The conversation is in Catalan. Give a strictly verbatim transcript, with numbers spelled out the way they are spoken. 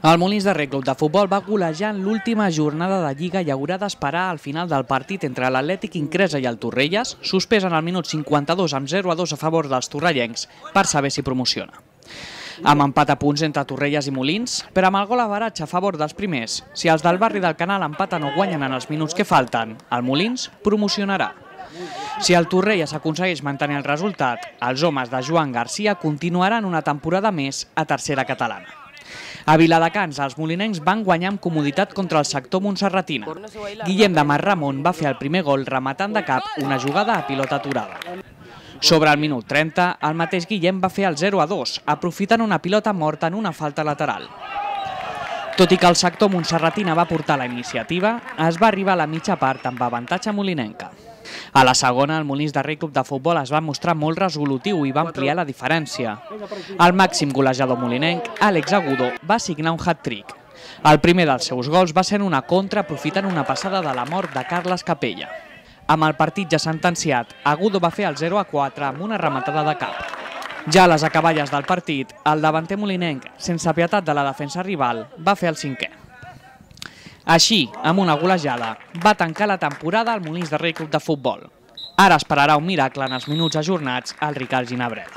El Molins de Rei Club de Futbol va golejar en l'última jornada de Lliga i haurà d'esperar al final del partit entre l'Atlètic Incresa i el Torrelles, suspès en el minut cinquanta-dos amb zero a dos a favor dels torrellencs, per saber si promociona. Amb empat a punts entre Torrelles i Molins, però amb el gol average a favor dels primers, si els del barri del Canal empaten o guanyen en els minuts que falten, el Molins promocionarà. Si el Torrelles aconsegueix mantenir el resultat, els homes de Joan Garcia continuaran una temporada més a tercera catalana. A Viladecans, els molinencs van guanyar amb comoditat contra el sector montserratina. Guillem de Marramon va fer el primer gol rematant de cap una jugada a pilota aturada. Sobre el minut trenta, el mateix Guillem va fer el zero a dos, aprofitant una pilota morta en una falta lateral. Tot i que el sector montserratina va portar la iniciativa, es va arribar a la mitja part amb avantatge molinenca. A la segona, el Molins de Rei Club de Futbol es va mostrar molt resolutiu i va ampliar la diferència. El màxim golejador molinenc, Àlex Agudo, va signar un hat-trick. El primer dels seus gols va ser en una contra aprofitant una passada de la mort de Carles Capella. Amb el partit ja sentenciat, Agudo va fer el zero a quatre amb una rematada de cap. Ja a les acaballes del partit, el davanter molinenc, sense pietat de la defensa rival, va fer el cinquè. Així, amb una golejada, va tancar la temporada al Molins de Rei Club de Futbol. Ara esperarà un miracle en els minuts ajornats al Ricard Ginebret.